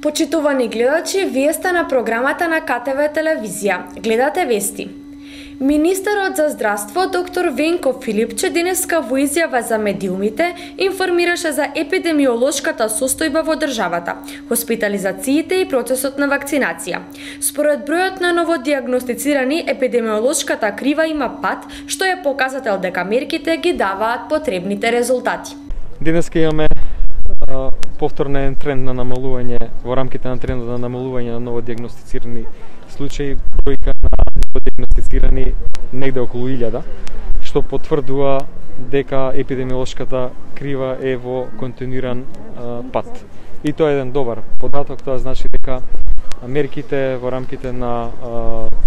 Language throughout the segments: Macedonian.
Почитувани гледачи, вие сте на програмата на КТВ телевизија. Гледате вести. Министерот за здравство доктор Венко Филипче денеска во изјава за медиумите информираше за епидемиолошката состојба во државата, хоспитализациите и процесот на вакцинација. Според бројот на новодиагностицирани, епидемиолошката крива има пат, што е показател дека мерките ги даваат потребните резултати. Денеска имаме повторен тренд на намалување во рамките на трендот на намалување на новодиагностицирани случаи, бројка на новодиагностицирани негде околу 1000, што потврдува дека епидемиолошката крива е во континуиран пат. И тоа е еден добар податок, тоа значи дека мерките во рамките на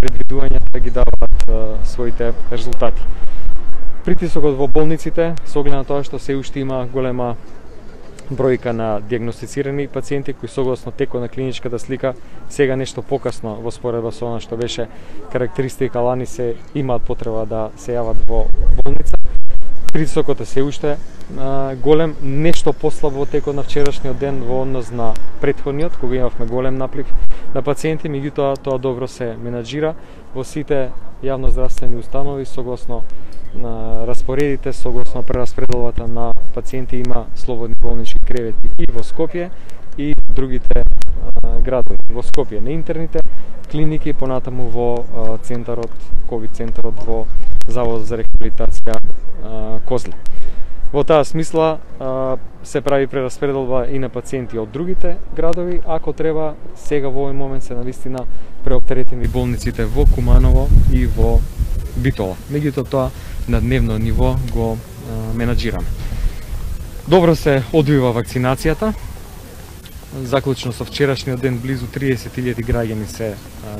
предвидувањата ги даваат своите резултати. Притисокот во болниците, со оглед на тоа што се уште има голема бројка на диагностицирани пациенти кои согласно текот на клиничката слика сега нешто покасно во споредба со она што беше карактеристика лани се имаат потреба да се јават во болница. Притисокот е се уште голем, нешто послаб во текот на вчерашниот ден во однос на претходниот, кога имавме голем наплив на пациенти, меѓутоа тоа добро се менаџира во сите јавноздравствени установи согласно на распоредите, согласно прераспределбата на пациенти има слободни болнички кревети и во Скопје и другите градови. Во Скопје на интерните клиники, понатаму во центарот, ковид центарот во Заводот за рехабилитација Козле. Во таа смисла се прави прераспределба и на пациенти од другите градови, ако треба сега во овој момент се навистина преоптеретени болниците во Куманово и во Битола. Меѓутоа тоа на дневно ниво го менаџираме. Добро се одвива вакцинацијата. Заклучно со вчерашниот ден близу 30.000 граѓани се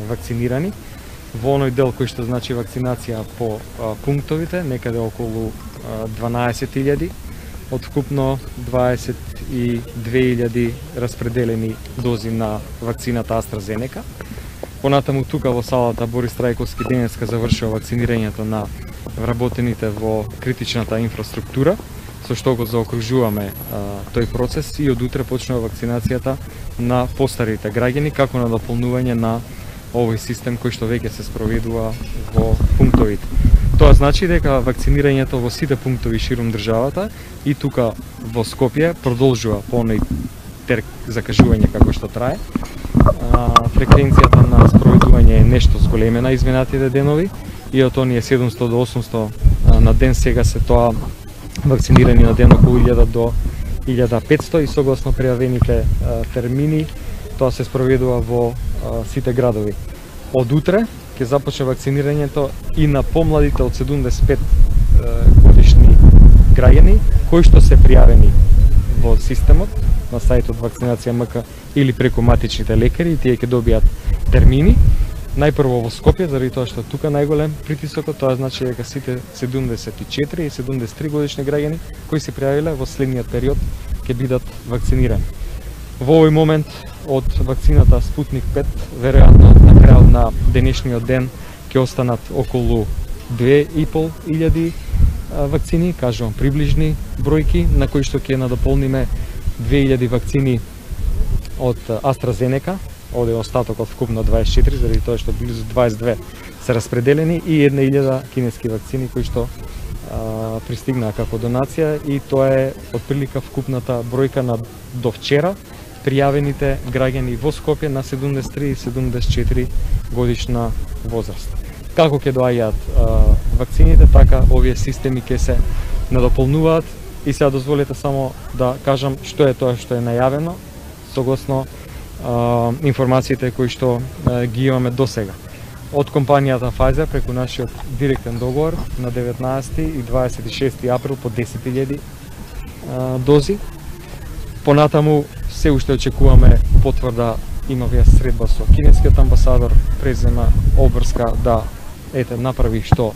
вакцинирани. Во оној дел кој што значи вакцинација по пунктовите, некаде околу 12.000, од вкупно 22.000 распределени дози на вакцината AstraZeneca. Понатаму тука во салата Борис Трајковски денеска завршува вакцинирањето на вработените во критичната инфраструктура, со што го заокружуваме тој процес и од утре почнува вакцинацијата на постарите граѓани како на дополнување на овој систем кој што веќе се спроведува во пунктовите. Тоа значи дека вакцинирањето во сите пунктови ширум државата и тука во Скопје продолжува по оној терк закажување како што трае. Фреквенцијата на спроведување е нешто зголемена изминатите денови и од оние 700 до 800 на ден сега се тоа вакцинирани на ден околу 1000 до 1500 и согласно пријавените термини тоа се спроведува во сите градови. Од утре ќе започне вакцинирањето и на помладите од 75 годишни граѓани кои што се пријавени во системот на сајтот Вакцинација МК или преку матичните лекари, тие ќе добијат термини. Најпрво во Скопје, заради тоа што тука најголем притисокот, тоа значи дека сите 74 и 73 годишни граѓани кои се пријавиле во следниот период ќе бидат вакцинирани. Во овој момент од вакцината Спутник 5, веројатно на крајот на денешниот ден ќе останат околу 2500 вакцини, кажувам приближни бројки, на кои што ќе надополниме 2000 вакцини од AstraZeneca, овде остатокот вкупно 24, заради тоа што близу 22 се распределени и 1000 кинески вакцини кои што пристигнаа како донација и тоа е отприлика вкупната бројка на до вчера пријавените граѓани во Скопје на 73 и 74 годишна возраст. Како ќе доаѓаат вакцините, така овие системи ќе се надополнуваат и сега дозволете само да кажам што е тоа што е најавено согласно информациите кои што ги имаме до сега. Од компанијата Pfizer преку нашиот директен договор на 19 и 26 април по 10.000 дози. Понатаму се уште очекуваме потврда, имавме средба со кинескиот амбасадор, презема обврска да направи што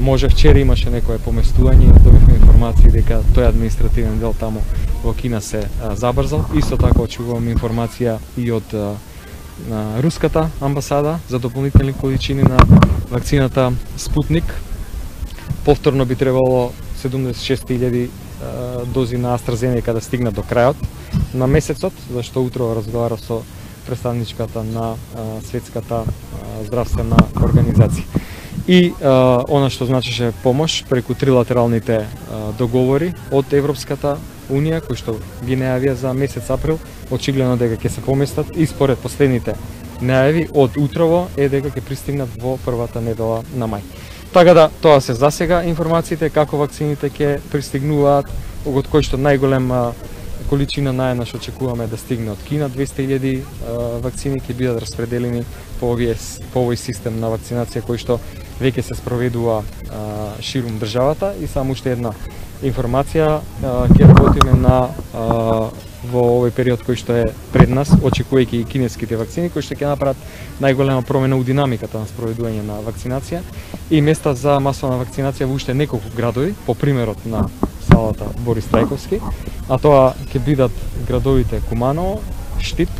може. Вчера имаше некое поместување, добивме информации дека тој административен дел таму во Кина се забрзал. Исто така очекуваме информација и од руската амбасада за дополнителни количини на вакцината Спутник. Повторно би требало 76.000 дози на AstraZeneca да стигнат до крајот на месецот, зашто утро разговара со представничката на Светската здравствена организација. И она што значеше помош преку трилатералните договори од Европската Унија, кои што ги најавија за месец април, очигледно дека ќе се поместат и според последните најави од утрово е дека ќе пристигнат во првата недела на мај. Така да, тоа се засега информациите како вакцините ќе пристигнуваат, од кои што најголема количина наједнаш очекуваме да стигне од Кина, 200.000 вакцини ќе бидат распределени по овој систем на вакцинација кој што веќе се спроведува ширум државата. И само уште една информација, ќе работиме на во овој период кој што е пред нас, очекувајќи и кинеските вакцини кои што ќе направат најголема промена у динамиката на спроведување на вакцинација и места за масовна вакцинација во уште неколку градови, по примерот на салата Борис Трајковски, а тоа ќе бидат градовите Куманово, Штип,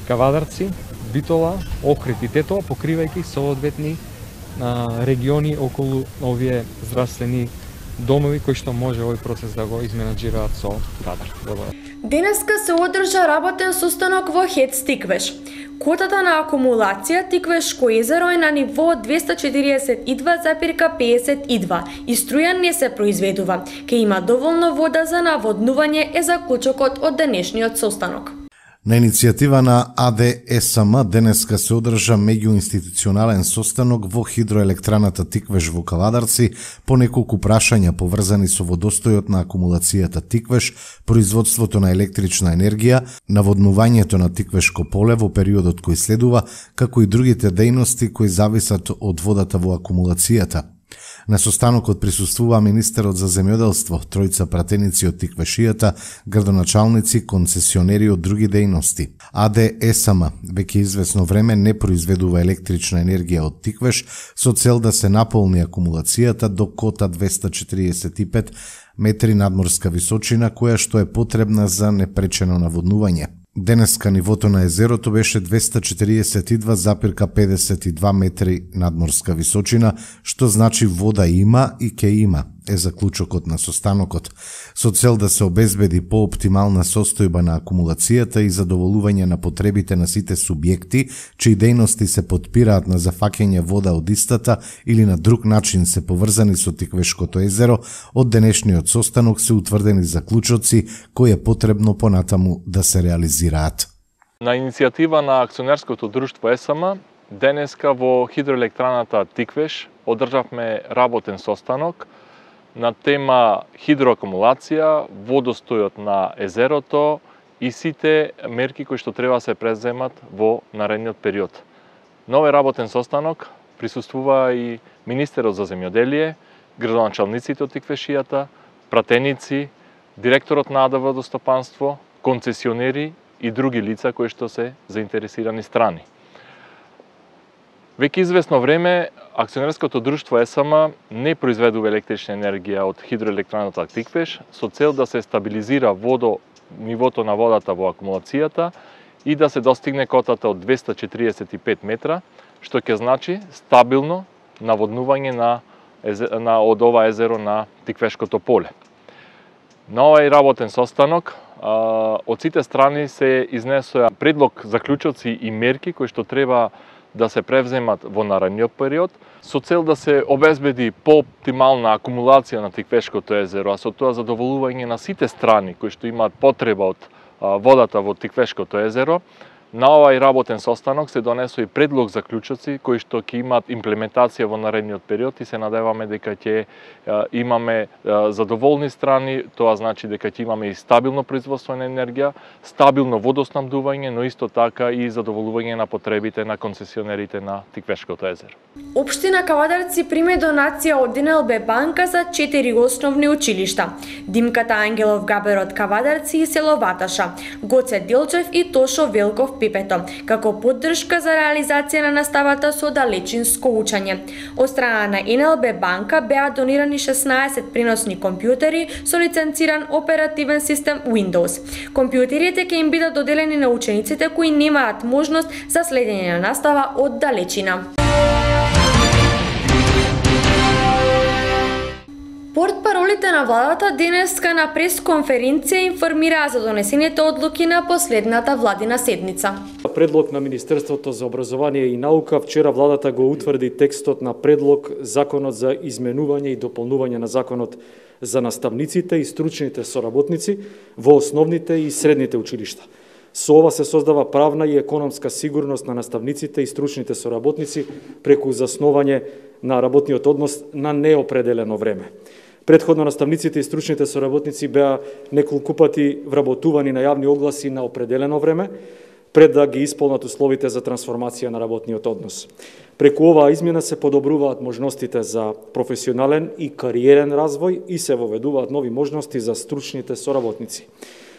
Кавадарци, Битола, Охрид и Тетоа, покривајќи соодветни региони околу овие здравствени домови кои што може овој процес да го изменаџираат со кадар. Денеска се одржа работен состанок во ХЕЦ Тиквеш. Котата на акумулација Тиквешко езеро е на ниво 242,52 и струја не се произведува. Ке има доволно вода за наводнување е заклучокот од денешниот состанок. На иницијатива на АДСМ денеска се одржа меѓуинституционален состанок во хидроелектраната Тиквеш во Каладарци по неколку прашања поврзани со водостојот на акумулацијата Тиквеш, производството на електрична енергија, наводнувањето на Тиквешко поле во периодот кој следува, како и другите дејности кои зависат од водата во акумулацијата. На состанокот присуствува министерот за земјоделство, тројца пратеници од Тиквешијата, градоначалници, концесионери од други дејности. АДСМ веќе известно време не произведува електрична енергија од Тиквеш со цел да се наполни акумулацијата до кота 245 метри надморска височина, која што е потребна за непречено наводнување. Денеска нивото на езерото беше 242,52 метри надморска височина, што значи вода има и ќе има, е заклучокот на состанокот, со цел да се обезбеди пооптимална состојба на акумулацијата и задоволување на потребите на сите субјекти, чии дејности се потпираат на зафаќање вода од истата или на друг начин се поврзани со Тиквешкото езеро. Од денешниот состанок се утврдени заклучоци кои е потребно понатаму да се реализираат. На иницијатива на акционерското друштво ЕСМ, денеска во хидроелектраната Тиквеш одржавме работен состанок на тема хидроакумулација, водостојот на езерото и сите мерки кои што треба се преземат во наредниот период. На овој работен состанок присуствува и министерот за земјоделие, градоначалниците од Тиквешијата, пратеници, директорот на АД Водостопанство, концесионери и други лица кои што се заинтересирани страни. Веќе известно време акционерското друштво ЕСМ не произведува електрична енергија од хидроелектраната Тиквеш со цел да се стабилизира нивото на водата во акумулацијата и да се достигне котата од 245 метра, што ќе значи стабилно наводнување од ова езеро на Тиквешкото поле. На овој работен состанок од сите страни се изнесоа предлог заклучоци и мерки кои што треба да се превземат во наредниот период, со цел да се обезбеди пооптимална акумулација на Тиквешкото езеро, а со тоа задоволување на сите страни кои што имаат потреба од водата во Тиквешкото езеро. На овој работен состанок се донесоа и предлог заклучоци кои што ќе имаат имплементација во наредниот период и се надеваме дека ќе имаме задоволни страни, тоа значи дека ќе имаме и стабилно производство на енергија, стабилно водоснабдување, но исто така и задоволување на потребите на концесионерите на Тиквешкото езеро. Општина Кавадарци приме донација од НЛБ банка за 4 основни училишта: Димката Ангелов Габер од Кавадарци и село Ваташа, Гоце Делчев и Тошо Велков Пипето, како поддршка за реализација на наставата со далечинско учење. Од страна на НЛБ банка беа донирани 16 преносни компјутери со лиценциран оперативен систем Windows. Компјутерите ќе им бидат доделени на учениците кои немаат можност за следење на настава од далечина. Портпаролите на владата денеска на пресконференција информираа за донесените одлуки на последната владина седница. Предлог на Министерството за образование и наука, вчера владата го утврди текстот на предлог Законот за изменување и дополнување на Законот за наставниците и стручните соработници во основните и средните училишта. Со ова се создава правна и економска сигурност на наставниците и стручните соработници преку заснување на работниот однос на неопределено време. Предходно наставниците и стручните соработници беа неколку пати вработувани на јавни огласи на определено време, пред да ги исполнат условите за трансформација на работниот однос. Преку оваа измена се подобруваат можностите за професионален и кариерен развој и се воведуваат нови можности за стручните соработници.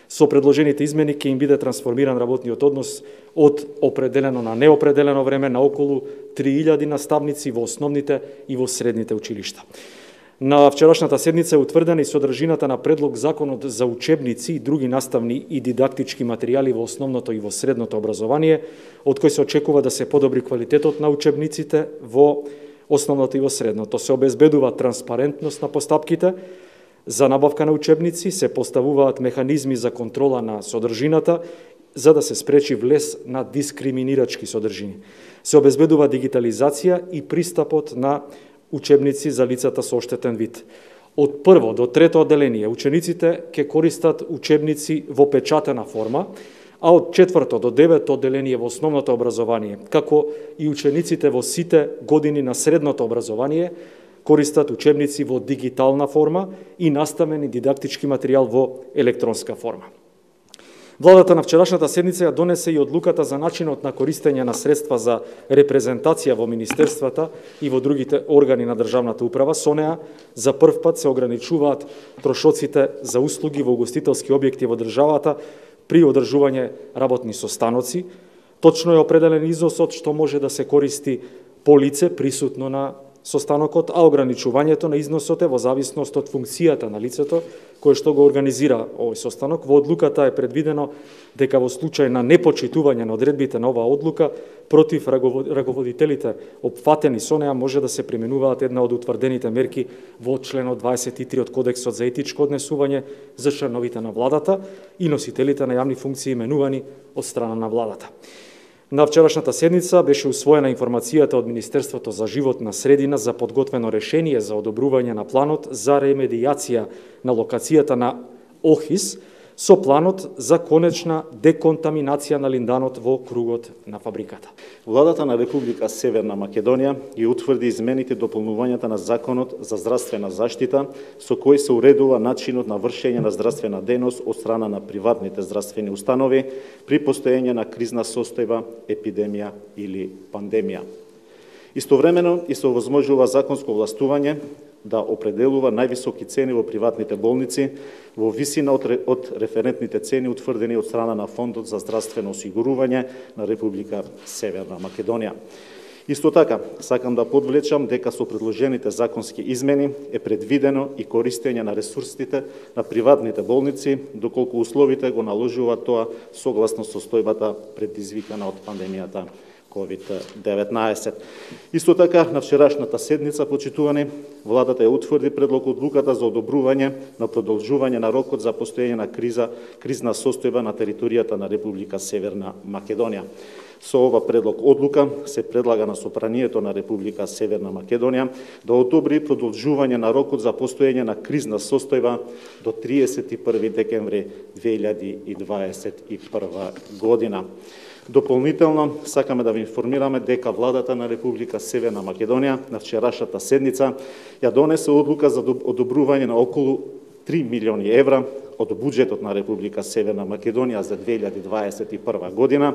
Со предложените измени ќе им биде трансформиран работниот однос од определено на неопределено време на околу 3000 наставници во основните и во средните училишта. На вчерашната седница е утврдена и содржината на предлог Законот за учебници и други наставни и дидактички материјали во основното и во средното образование, од кој се очекува да се подобри квалитетот на учебниците во основното и во средното. Се обезбедува транспарентност на постапките за набавка на учебници, се поставуваат механизми за контрола на содржината, за да се спречи влез на дискриминирачки содржини. Се обезбедува дигитализација и пристапот на учебници за лицата со оштетен вид. Од прво до трето одделение учениците ќе користат учебници во печатена форма, а од четврто до девето одделение во основното образование, како и учениците во сите години на средното образование, користат учебници во дигитална форма и наставен и дидактички материјал во електронска форма. Владата на вчерашната седница ја донесе и одлуката за начинот на користење на средства за репрезентација во министерствата и во другите органи на државната управа. Со неа за прв пат се ограничуваат трошоците за услуги во угостителски објекти во државата при одржување работни состаноци. Точно е определен износот што може да се користи по лице присутно на состанокот, а ограничувањето на износот е во зависност од функцијата на лицето кое што го организира овој состанок. Во одлуката е предвидено дека во случај на непочитување на одредбите на оваа одлука против раководителите опфатени со неа може да се применуваат една од утврдените мерки во членот 23 од Кодексот за етичко однесување за членовите на владата и носителите на јавни функции именувани од страна на владата. На вчерашната седница беше усвоена информацијата од Министерството за животна средина за подготвено решение за одобрување на планот за ремедијација на локацијата на Охис со планот за конечна деконтаминација на линданот во кругот на фабриката. Владата на Република Северна Македонија ги утврди измените и дополнувањата на Законот за здравствена заштита, со кој се уредува начинот на вршење на здравствена дејност од страна на приватните здравствени установи при постоење на кризна состојба, епидемија или пандемија. Истовремено и се овозможува законско властување да определува највисоки цени во приватните болници во висина од референтните цени утврдени од страна на Фондот за здравствено осигурување на Република Северна Македонија. Исто така, сакам да подвлечам дека со предложените законски измени е предвидено и користење на ресурсите на приватните болници, доколку условите го наложуваат тоа согласно состојбата предизвикана од пандемијата COVID-19. Исто така, на вчерашната седница, почитувани, владата ја утврди предлог одлуката за одобрување на продолжување на рокот за постоење на кризна состојба на територијата на Република Северна Македонија. Со ова предлог одлука се предлага на Собранието на Република Северна Македонија да одобри продолжување на рокот за постоење на кризна состојба до 31 декември 2021 година. Дополнително, сакаме да ви информираме дека владата на Република Северна Македонија на вчерашната седница ја донесе одлука за одобрување на околу 3 милиони евра од буџетот на Република Северна Македонија за 2021 година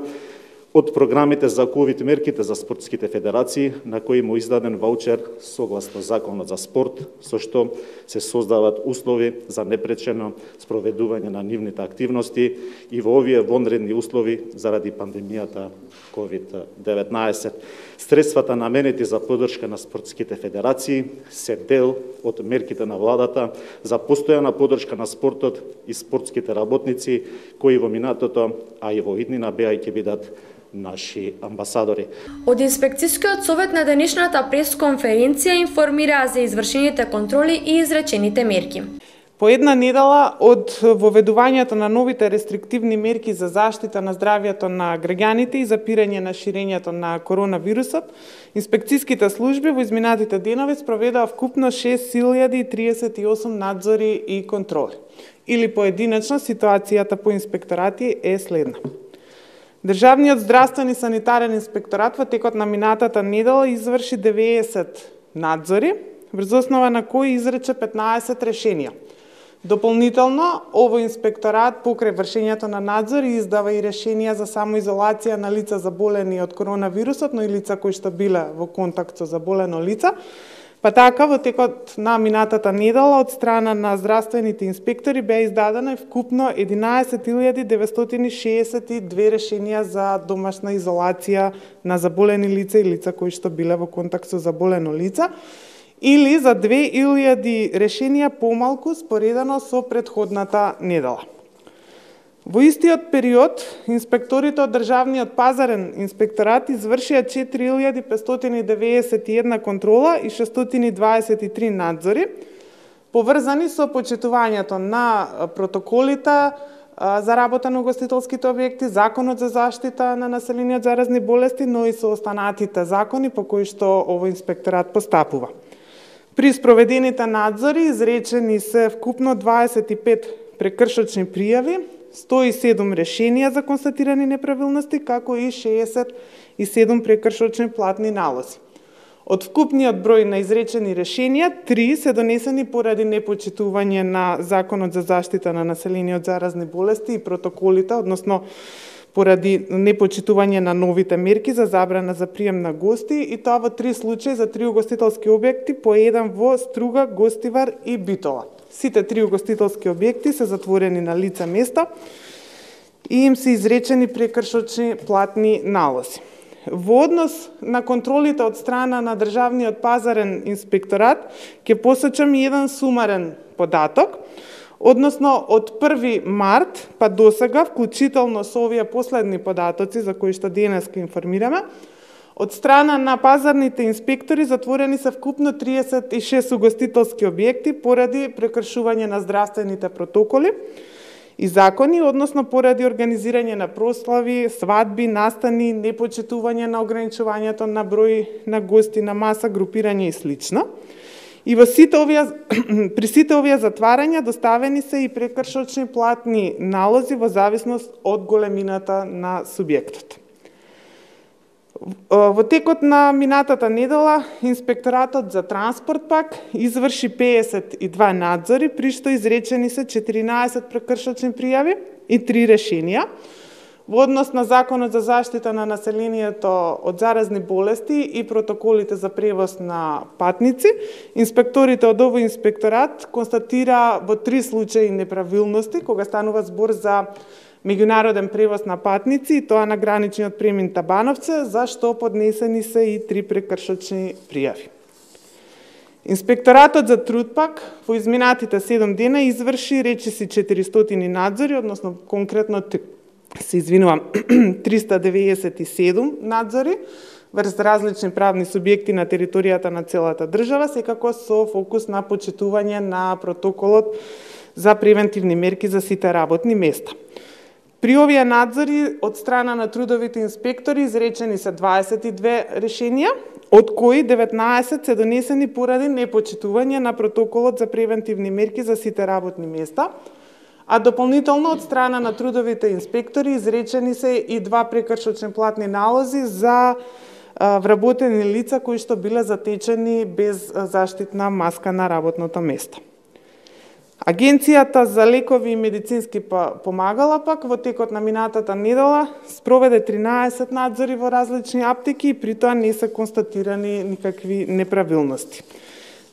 од програмите за ковид мерките за спортските федерации, на кои му издаден ваучер согласно Законот за спорт, со што се создават услови за непречено спроведување на нивните активности и во овие вонредни услови заради пандемијата COVID-19. Средствата наменети за поддршка на спортските федерации се дел од мерките на владата за постојана поддршка на спортот и спортските работници, кои во минатото, а и во иднина беа и ќе бидат наши амбасадори. Од инспекцијскиот совет на денешната пресконференција информираа за извршените контроли и изречените мерки. По една недела од воведувањето на новите рестриктивни мерки за заштита на здравјето на граѓаните и запирање на ширењето на коронавирусот, инспекцијските служби во изминатите денови спроведаа вкупно 6038 надзори и контроли. Или поединечно ситуацијата по инспекторати е следна. Државниот здравствен и санитарен инспекторат во текот на минатата недела изврши 90 надзори, врз основа на кои изрече 15 решенија. Дополнително, овој инспекторат покрај вршењето на надзор издава и решенија за самоизолација на лица заболени од коронавирусот, но и лица кои што биле во контакт со заболено лица. Па така, во текот на минатата недела од страна на здравствените инспектори беа издадено вкупно 11.962 решенија за домашна изолација на заболени лица и лица кои што биле во контакт со заболено лица, или за 2000 решенија помалку споредано со претходната недела. Во истиот период, инспекторите од Државниот пазарен инспекторат извршија 4591 контрола и 623 надзори, поврзани со почитувањето на протоколите за работа на угостителските објекти, Законот за заштита на население од заразни болести, но и со останатите закони по кои што овој инспекторат постапува. При спроведените надзори изречени се вкупно 25 прекршочни пријави, 107 решенија за констатирани неправилности, како и 67 прекршочни платни налози. Од вкупниот број на изречени решенија, 3 се донесени поради непочитување на Законот за заштита на население од заразни болести и протоколите, односно поради непочитување на новите мерки за забрана за прием на гости, и тоа во 3 случаи за 3 угостителски објекти, по еден во Струга, Гостивар и Битола. Сите 3 угостителски објекти се затворени на лице место и им се изречени прекршочни платни налози. Во однос на контролите од страна на Државниот пазарен инспекторат, ќе посочам еден сумарен податок. Односно, од 1 март па до сега, вклучително со овие последни податоци за кои што денес ке информираме, од страна на пазарните инспектори затворени се вкупно 36 угостителски објекти поради прекршување на здравствените протоколи и закони, односно поради организирање на прослави, свадби, настани, непочитување на ограничувањето на број на гости на маса, групирање и слично. И при сите овие затварања доставени се и прекршочни платни налози во зависност од големината на субјектот. Во текот на минатата недела, инспекторатот за транспорт пак изврши 52 надзори, при што изречени се 14 прекршочни пријави и 3 решенија. Во однос на Законот за заштита на населението од заразни болести и протоколите за превоз на патници, инспекторите од овој инспекторат констатира во 3 случаи неправилности, кога станува збор за меѓународен превоз на патници, и тоа на граничниот премин Табановце, за што поднесени се и 3 прекршочни пријави. Инспекторатот за труд пак во изминатите 7 дена изврши речиси 400 надзори, односно конкретно 397 надзори врз различни правни субјекти на територијата на целата држава, секако со фокус на почитување на протоколот за превентивни мерки за сите работни места. При овие надзори од страна на трудовите инспектори изречени се 22 решенија, од кои 19 се донесени поради непочитување на протоколот за превентивни мерки за сите работни места, а дополнително од страна на трудовите инспектори изречени се и 2 прекршочни платни налози за вработени лица кои што биле затечени без заштитна маска на работното место. Агенцијата за лекови и медицински помагала пак во текот на минатата недела спроведе 13 надзори во различни аптеки и при тоа не се констатирани никакви неправилности.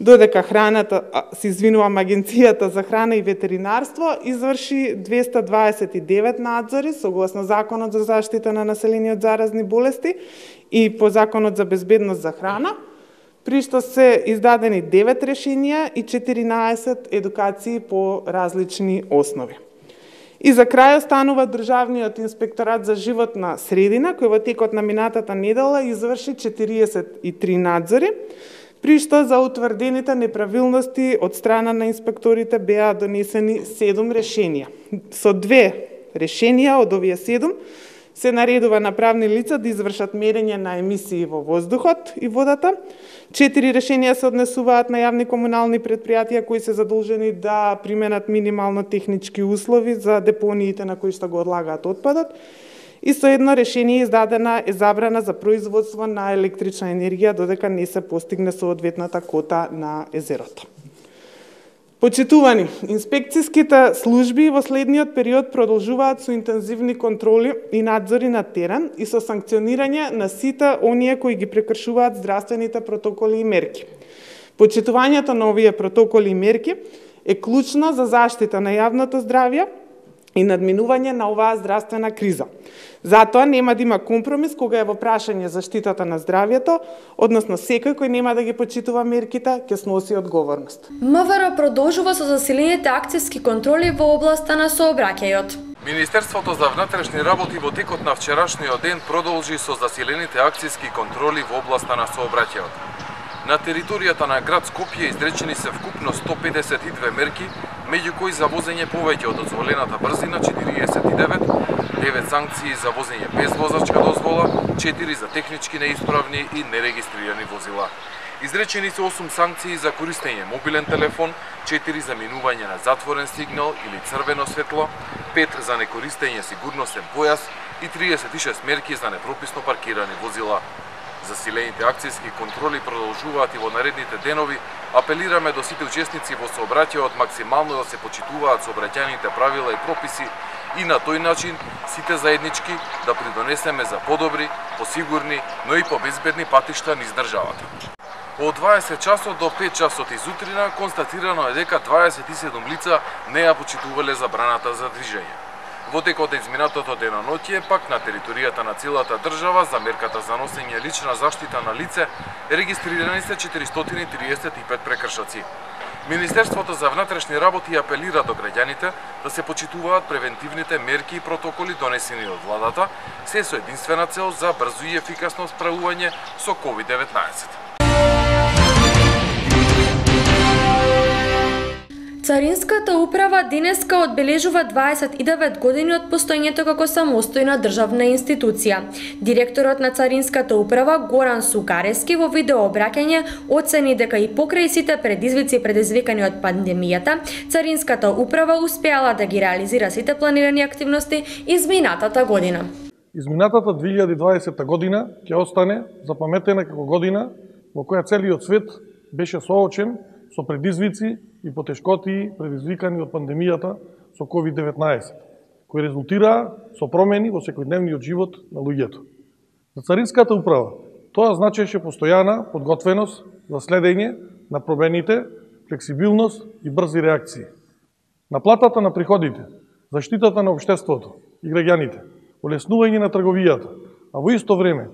Додека Агенцијата за храна и ветеринарство изврши 229 надзори согласно Законот за заштита на население од заразни болести и по Законот за безбедност за храна, при што се издадени 9 решенија и 14 едукации по различни основи. И за крај останува Државниот инспекторат за животна средина, кој во текот на минатата недела изврши 43 надзори, при што за утврдените неправилности од страна на инспекторите беа донесени 7 решенија. Со 2 решенија од овие 7 се наредува на правни лица да извршат мерење на емисии во воздухот и водата. 4 решенија се однесуваат на јавни комунални предпријатија кои се задолжени да применат минимално технички услови за депониите на кои што го одлагаат отпадот. И со едно решение издадена е забрана за производство на електрична енергија додека не се постигне соодветната кота на езерото. Почитувани, инспекцијските служби во следниот период продолжуваат со интензивни контроли и надзори на терен и со санкционирање на сите оние кои ги прекршуваат здравствените протоколи и мерки. Почитувањето на овие протоколи и мерки е клучно за заштита на јавното здравје и надминување на оваа здравствена криза. Затоа нема да има компромис кога е во прашање заштитата на здравјето, односно секој кој нема да ги почитува мерките ќе сноси одговорност. МВР продолжува со засилените акцијски контроли во областа на сообраќајот. Министерството за внатрешни работи во текот на вчерашниот ден продолжи со засилените акцијски контроли во областа на сообраќајот. На територијата на град Скопје изречени се вкупно 152 мерки, меѓу кои за возење повеќе од дозволената брзина 49, 9 санкции за возење без возачка дозвола, 4 за технички неисправни и нерегистрирани возила. Изречени се 8 санкции за користење мобилен телефон, 4 за минување на затворен сигнал или црвено светло, 5 за некористење сигурносен појас и 36 мерки за непрописно паркирани возила. Засилените акцијски контроли продолжуваат и во наредните денови. Апелираме до сите учесници во сообраќајот максимално да се почитуваат сообраќајните правила и прописи и на тој начин сите заеднички да придонесеме за подобри, посигурни, но и побезбедни патишта низ државата. Од 20 часот до 5 часот изутрина констатирано е дека 27 лица не ја почитувале забраната за движење. Во текот на изминатото деноноќе, пак на територијата на целата држава, за мерката за носење лична заштита на лице, регистрирани се 435 прекршоци. Министерството за внатрешни работи апелира до граѓаните да се почитуваат превентивните мерки и протоколи донесени од владата, се со единствена цел за брзо и ефикасно справување со COVID-19. Царинската управа денеска одбележува 29 години од постоењето како самостојна државна институција. Директорот на Царинската управа Горан Сугарески во видеообраќање оцени дека и покрај сите предизвици предизвикани од пандемијата, Царинската управа успеала да ги реализира сите планирани активности изминатата година. Изминатата 2020 година ќе остане запаметена како година во која целиот свет беше соочен со предизвици и потешкотии предизвикани од пандемијата со COVID-19, кои резултираа со промени во секојдневниот живот на луѓето. За Царинската управа тоа значеше постојана подготвеност за следење на промените, флексибилност и брзи реакции. Наплатата на приходите, заштитата на општеството и граѓаните, олеснување на трговијата, а во исто време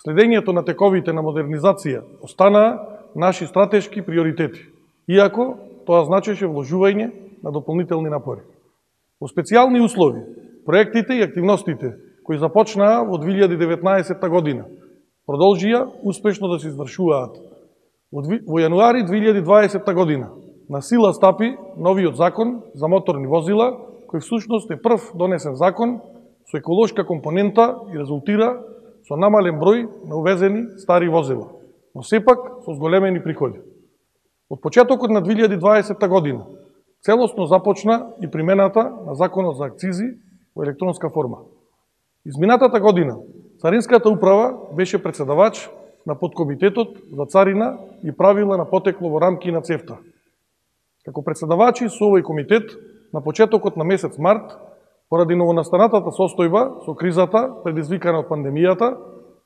следењето на тековите на модернизација останаа наши стратешки приоритети, иако тоа значеше вложување на дополнителни напори. Во специјални услови, проектите и активностите кои започнаа во 2019 година продолжија успешно да се извршуваат. Во јануари 2020 година на сила стапи новиот закон за моторни возила, кој всушност е прв донесен закон со еколошка компонента и резултира со намален број на увезени стари возила, но сепак со зголемени приходи. Од почетокот на 2020 година целосно започна и примената на Законот за акцизи во електронска форма. Изминатата година Царинската управа беше председавач на подкомитетот за царина и правила на потекло во рамки на ЦЕФТА. Како председавачи со овој комитет на почетокот на месец март, поради новонастанатата состојба со кризата предизвикана од пандемијата,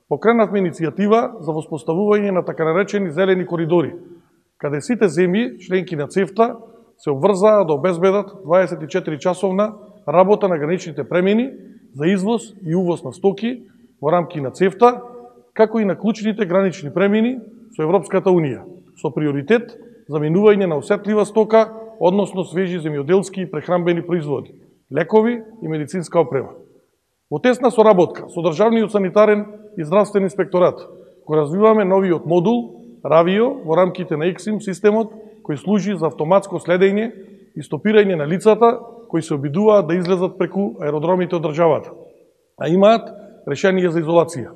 покренавме иницијатива за воспоставување на така наречени зелени коридори, каде сите земји, членки на ЦЕФТА, се обврзаа да обезбедат 24-часовна работа на граничните премини за извоз и увоз на стоки во рамки на ЦЕФТА, како и на клучните гранични премини со Европската Унија, со приоритет за минување на осетлива стока, односно свежи земјоделски и прехранбени производи, лекови и медицинска опрема. Во тесна соработка со државниот санитарен и здравствен инспекторат го развиваме новиот модул Равио во рамките на ЕКСИМ системот кој служи за автоматско следење и стопирање на лицата кои се обидуваат да излезат преку аеродромите од државата, а имаат решение за изолација.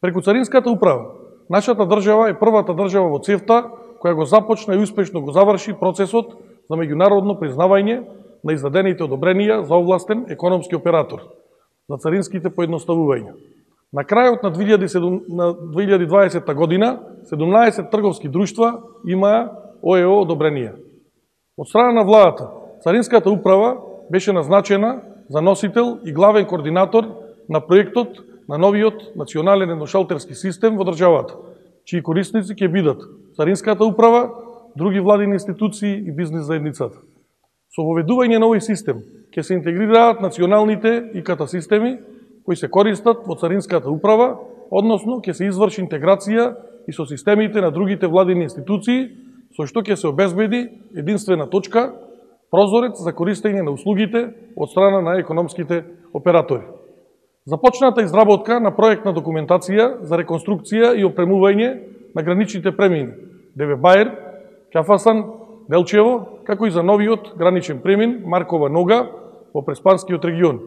Преку Царинската управа, нашата држава е првата држава во ЦЕФТА која го започна и успешно го заврши процесот за меѓународно признавање на издадените одобренија за овластен економски оператор, за царинските поедноставувања. На крајот на 2020 година, 17 трговски друштва имаа ОЕО одобренија. Од страна на владата, Царинската управа беше назначена за носител и главен координатор на проектот на новиот национален едношалтерски систем во државата, чии корисници ќе бидат Царинската управа, други владини институции и бизнис заедницата. Со воведување на овој систем ќе се интегрираат националните ИКТ системи кои се користат во Царинската управа, односно ќе се изврши интеграција и со системите на другите владини институции, со што ќе се обезбеди единствена точка, прозорец за користење на услугите од страна на економските оператори. Започната изработка на проектна документација за реконструкција и опремување на граничните премини Деве Баер, Кафасан, Делчево, како и за новиот граничен премин Маркова Нога во Преспанскиот регион,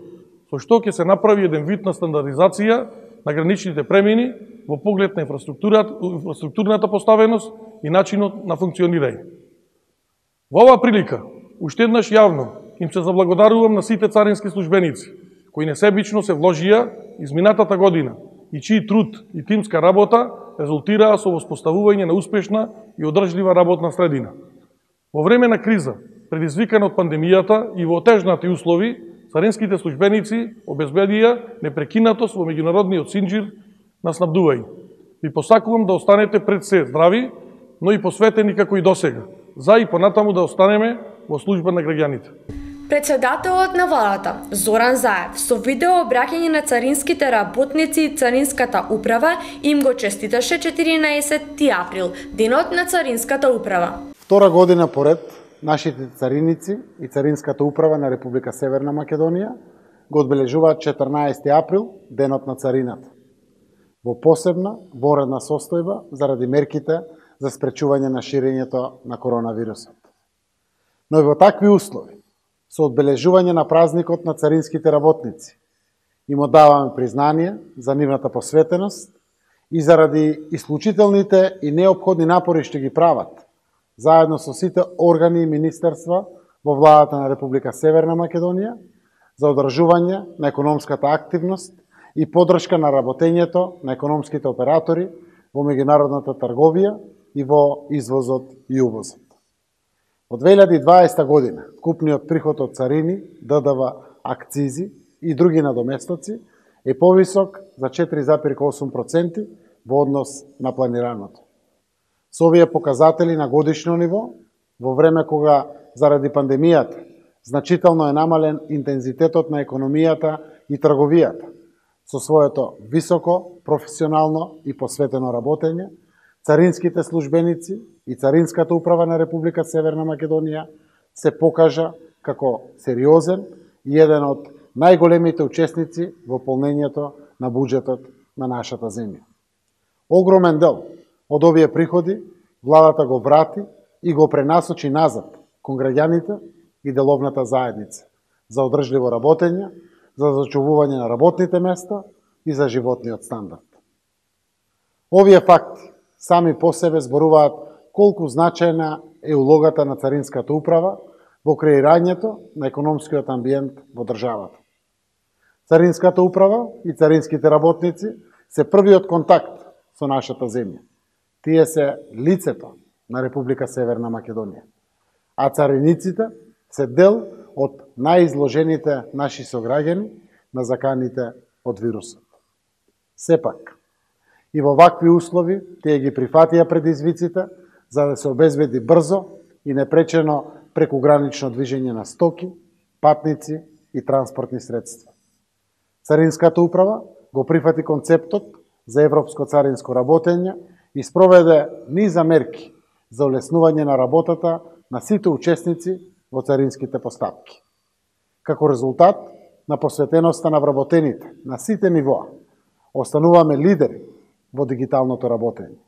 со што ќе се направи еден вид на стандардизација на граничните премини во поглед на инфраструктурната поставеност и начинот на функционирање. Во оваа прилика, уште еднаш јавно им се заблагодарувам на сите царински службеници, кои несебично се вложија изминатата година и чии труд и тимска работа резултираа со воспоставување на успешна и одржлива работна средина. Во време на криза, предизвикана од пандемијата и во отежнати услови, царинските службеници обезбедија непрекинатост во меѓународниот синџир на снабдување. Ви посакувам да останете пред се здрави, но и посветени како и досега, за и понатаму да останеме во служба на граѓаните. Председателот на владата, Зоран Заев, со видео обраќање на царинските работници и Царинската управа им го честиташе 14 април, денот на Царинската управа. Втора година поред, нашите цариници и Царинската управа на Република Северна Македонија го одбележуваат 14 април, денот на царината, во посебна воредна состојба заради мерките за спречување на ширењето на коронавирусот. Но и во такви услови, со одбележување на празникот на царинските работници, им оддаваме признание за нивната посветеност и заради исклучителните и неопходни напори што ги прават, заедно со сите органи и министерства во владата на Република Северна Македонија, за одржување на економската активност и поддршка на работењето на економските оператори во меѓународната трговија и во извозот и увозот. Од 2020 година, вкупниот приход од царини, ДДВ, акцизи и други надоместоци е повисок за 4,8% во однос на планираното. Со овие показатели на годишно ниво, во време кога заради пандемијата значително е намален интензитетот на економијата и трговијата, со своето високо, професионално и посветено работење, царинските службеници и Царинската управа на Република Северна Македонија се покажа како сериозен и еден од најголемите учесници во полнењето на буџетот на нашата земја. Огромен дел од овие приходи владата го врати и го пренасочи назад кон граѓаните и деловната заедница за одржливо работење, за зачувување на работните места и за животниот стандард. Овие факти сами по себе зборуваат колку значајна е улогата на Царинската управа во креирањето на економскиот амбиент во државата. Царинската управа и царинските работници се првиот контакт со нашата земја. Тие се лицето на Република Северна Македонија, а цариниците се дел од најизложените наши сограѓани на заканите од вирусот. Сепак, и во вакви услови тие ги прифатија предизвиците за да се обезбеди брзо и непречено прекугранично движење на стоки, патници и транспортни средства. Царинската управа го прифати концептот за европско царинско работење и спроведе низа мерки за олеснување на работата на сите учесници во царинските постапки. Како резултат на посветеноста на вработените на сите нивоа, остануваме лидери во дигиталното работење.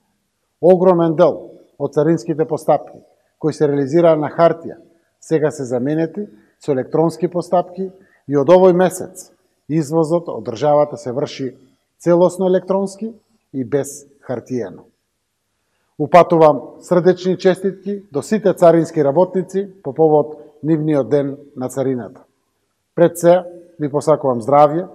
Огромен дел од царинските постапки кои се реализираа на хартија сега се заменети со електронски постапки и од овој месец извозот од државата се врши целосно електронски и без хартиено. Упатувам срдечни честитки до сите царински работници по повод нивниот ден на царината. Пред се ви посакувам здравје,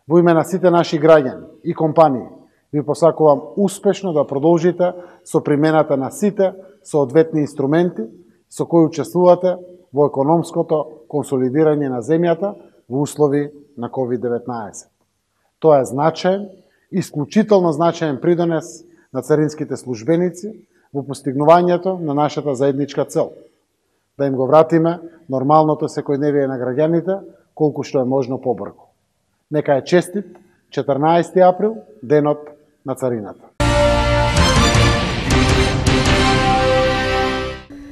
во име на сите наши граѓани и компании ви посакувам успешно да продолжите со примената на сите соодветни инструменти со кои учествувате во економското консолидирање на земјата во услови на COVID-19. Тоа е значаен, исклучително значаен придонес на царинските службеници во постигнувањето на нашата заедничка цел, да им го вратиме нормалното секојдневие на граѓаните колку што е можно побрзо. Нека е честит 14 април, денот на царината.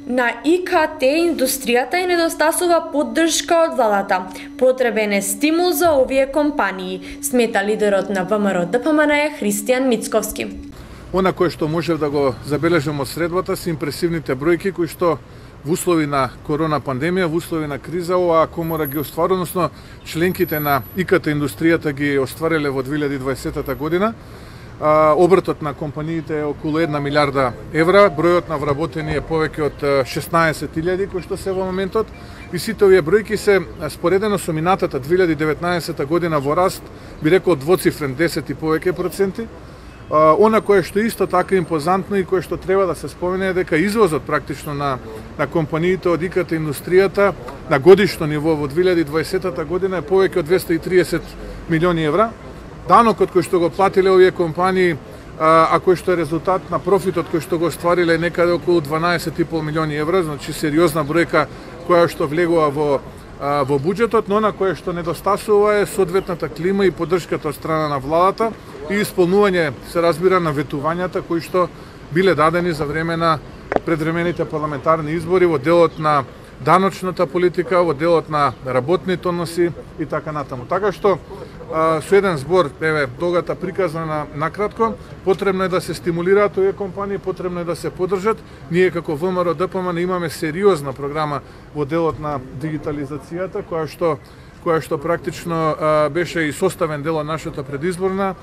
На ИКТ индустријата и недостасува поддршка од владата. Потребен е стимул за овие компании, смета лидерот на ВМРО ДПМН Христијан Мицковски. Она кое што можев да го забележам од средбата се импресивните бројки кои што во услови на корона пандемија, во услови на криза, оваа комора ги остварува, односно членките на ИКТ индустријата ги оствариле во 2020 година. Обртот на компаниите е околу 1 милиарда евра, бројот на вработени е повеќе од 16.000 кои што се во моментот, и сите овие бројки се споредено со минатата 2019 година во раст, би рекол двоцифрен 10 и повеќе проценти. Она кое што исто така импозантно и кое што треба да се спомене е дека извозот практично на компаниите од ИКТ индустријата на годишно ниво во 2020 година е повеќе од 230 милиони евра. Данокот кој што го платиле овие компании, а кој што е резултат на профитот кој што го оствариле некаде околу 12,5 милиони евра, значи сериозна бројка која што влегува во буџетот, но на кое што недостасува е соодветната клима и поддршката од страна на владата и исполнување, се разбира, на ветувањата кои што биле дадени за време на предвремените парламентарни избори во делот на даночната политика, во делот на работните односи и така натаму. Така што со еден збор, еве, тогата приказана накратко, потребно е да се стимулираат овие компании, потребно е да се поддржат. Ние како ВМРО ДПМН имаме сериозна програма во делот на дигитализацијата, која што практично беше и составен дел од нашата предизборна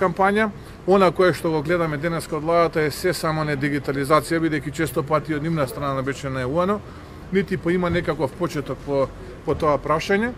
кампања. Она кое што го гледаме денеска од владата е се само не дигитализација, бидејќи често пати од нивна страна беше најавувано, нити има некаков почеток по тоа прашање.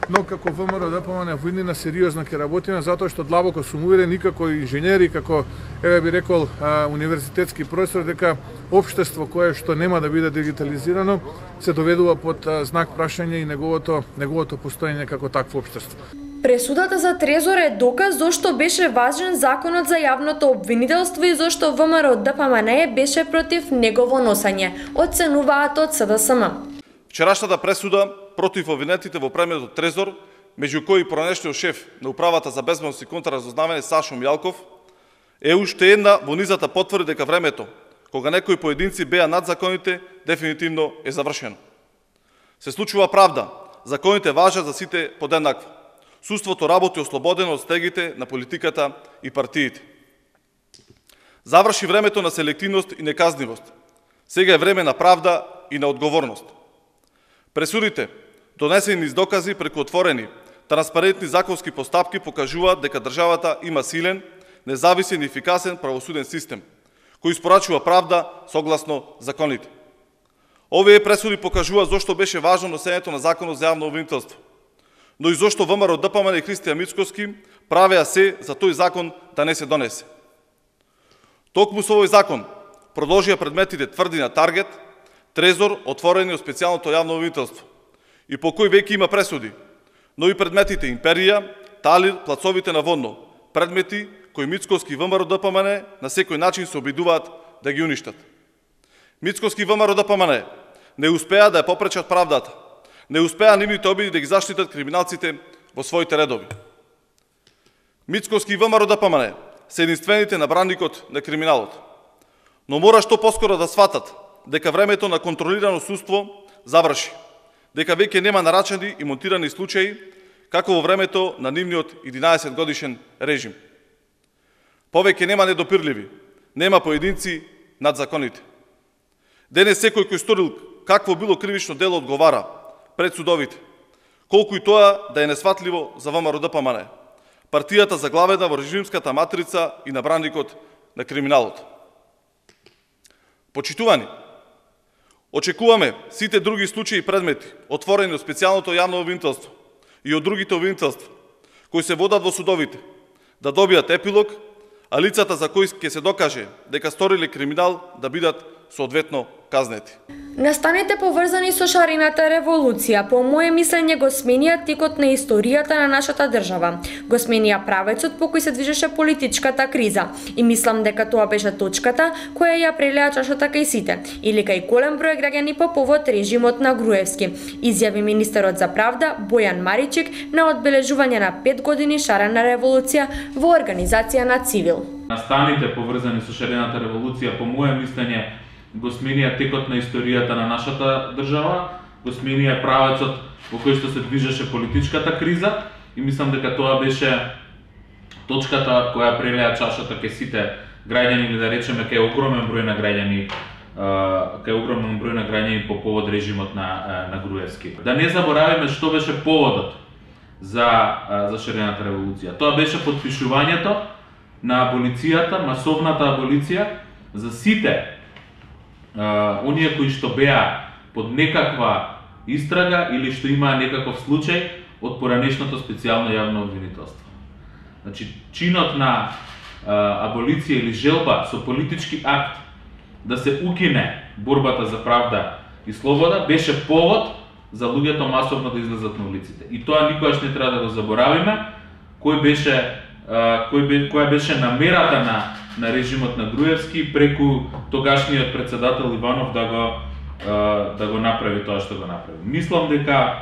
Но како ВМРО ДПМН во иднина сериозно ќе работиме, затоа што длабоко сум уверен и како инженери, како, еве би рекол, универзитетски професор, дека општество кое што нема да биде дигитализирано се доведува под знак прашање и неговото постоење како такво општество. Пресудата за Трезор е доказ зошто беше важен законот за јавното обвинителство и зошто ВМРО ДПМН беше против негово носење, оценуваат од СДСМ. Вчерашната пресуда против обвинетите во премиот Трезор, меѓу кои пронешниот шеф на Управата за безбедност и контраразузнавање Сашо Мјалков, е уште една во низата потврди дека времето, кога некои поединци беа над законите, дефинитивно е завршено. Се случува правда, законите важат за сите подеднакво. Судството работи ослободено од стегите на политиката и партиите. Заврши времето на селективност и неказнивост. Сега е време на правда и на одговорност. Пресудите, донесени низ докази преку отворени, транспарентни законски постапки покажуваат дека државата има силен, независен и ефикасен правосуден систем, кој испорачува правда согласно законите. Овие пресуди покажуваат зошто беше важно носењето на законот за јавно обвинителство, но и зошто ВМРО ДПМН и Христијан Мицковски правеа се за тој закон да не се донесе. Токму со овој закон продолжија предметите тврди на Таргет, Трезор, отворени од специјалното јавно обвинителство, и по кој веќе има пресуди, но и предметите Империја, Талир, плацовите на Водно, предмети кои Мицковски и ВМРО ДПМН на секој начин се обидуваат да ги уништат. Мицковски и ВМРО ДПМН не успеа да ја попречат правдата, не успеа нивните обиди да ги заштитат криминалците во своите редови. Мицковски и ВМРО ДПМН се единствените на бранникот на криминалот, но мора што поскоро да сватат дека времето на контролирано судство заврши, дека веќе нема нарачани и монтирани случаи, како во времето на нивниот 11 годишен режим. Повеќе нема недопирливи, нема поединци над законите. Денес секој кој сторил какво било кривично дело одговара пред судовите, колку и тоа да е несватливо за ВМРО-ДПМН, партијата заглавена во режимската матрица и набранникот на криминалот. Почитувани, очекуваме сите други случаи и предмети, отворени од специјалното јавно обвинителство и од другите обвинителства, кои се водат во судовите, да добијат епилог, а лицата за кои ќе се докаже дека сториле криминал да бидат соодветно казнети. Настаните поврзани со шарената револуција, по моје мислење, го сменија текот на историјата на нашата држава. Го сменија правецот по кој се движеше политичката криза. И мислам дека тоа беше точката која ја прелеа чашата кај сите, или кај голем број граѓани по повод режимот на Груевски, изјави министерот за правда Бојан Маричик на одбележување на 5 години шарена револуција во организација на Цивил. Настаните поврзани со шарената револуција, по моје мислење, го сменија текот на историјата на нашата држава, го сменија правецот во кој што се движеше политичката криза и мислам дека тоа беше точката која прелеа чашата кај сите граѓани, или да речеме кај огромен број на граѓани, по повод режимот на Груевски. Да не заборавиме што беше поводот за шарената револуција. Тоа беше потпишувањето на аболицијата, масовната аболиција за сите оние кои што беа под некаква истрага или што имаа некаков случај од поранешното специјално јавно обвинителство. Значи, чинот на аболиција или желба со политички акт да се укине борбата за правда и слобода беше повод за луѓето масовно да излезат на улиците. И тоа никогаш не треба да го заборавиме, која беше намерата на режимот на Груевски преку тогашниот председател Иванов да го направи тоа што го направи. Мислам дека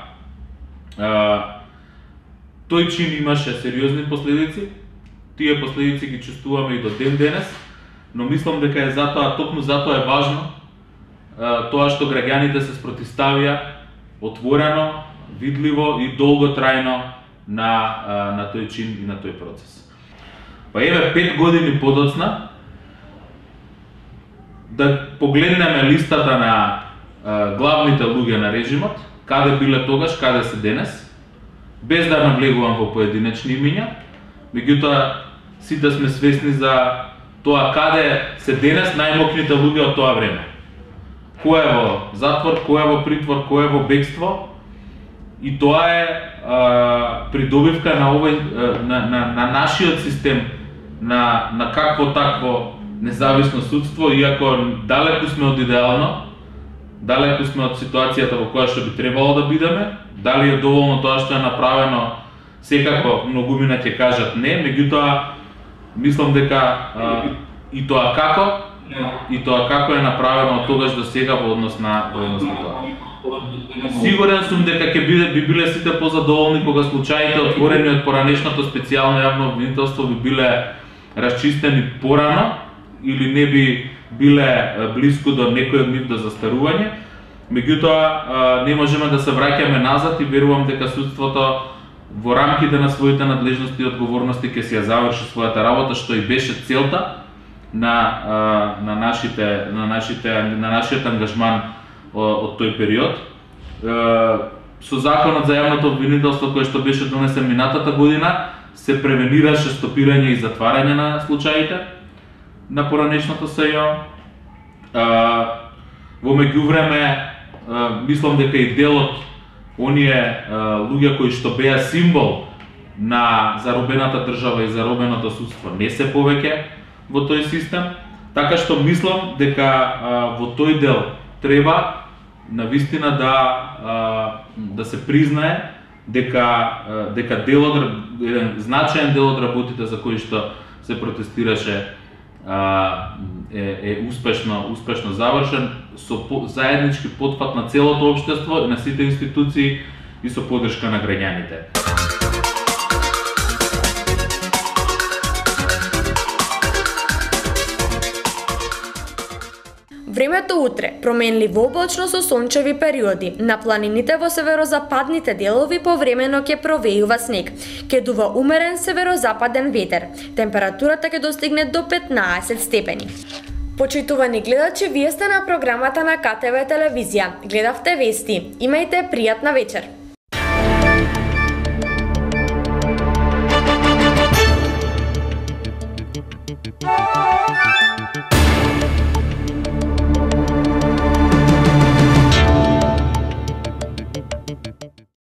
тој чин имаше сериозни последици, тие последици ги чувствуваме и до ден денес, но мислам дека е токму затоа е важно тоа што граѓаните се спротивставија отворено, видливо и долготрајно на тој чин и на тој процес. Па еве 5 години подоцна да погледнеме листата на главните луѓе на режимот, каде биле тогаш, каде се денес, без да навлегувам во поединечни имиња, меѓутоа сите сме свесни за тоа каде се денес најмокните луѓе од тоа време. Кој е во затвор, кој е во притвор, кој е во бегство, и тоа е придобивка на нашиот систем, на какво такво независно судство, иако далеку сме од идеално, далеку сме од ситуацијата во која што би требало да бидеме. Дали е доволно тоа што е направено, секако многумина ќе кажат не, меѓутоа мислам дека и тоа како е направено од тогаш до сега во однос на тоа. Сигурен сум дека би биле сите позадоволни кога случаите отворени од поранешното специјално јавно обвинителство би биле расчистени порано или не би биле блиску до некој од нив до застарување. Меѓутоа не можеме да се враќаме назад и верувам дека судството во рамките на своите надлежности и одговорности ќе си ја заврши својата работа, што и беше целта на нашиот ангажман од тој период. Со законот за јавното обвинителство кој што беше донесен минатата година се превенираше стопирање и затварање на случаите на поранешното СЈО. Во меѓувреме мислам дека и дел од оние луѓе кои што беа символ на заробената држава и заробеното судство не се повеќе во тој систем, така што мислам дека во тој дел треба навистина да се признае дека еден значаен дел од работите за кои што се протестираше е успешно завршен со заеднички потпат на целото општество и на сите институции и со поддршка на граѓаните. Времето утре променливо облачно со сончеви периоди. На планините во северозападните делови повремено ќе провејува снег. Ќе дува умерен северозападен ветер. Температурата ќе достигне до 15 степени. Почитувани гледачи, вие сте на програмата на КТВ телевизија. Гледавте вести. Имајте пријатна вечер.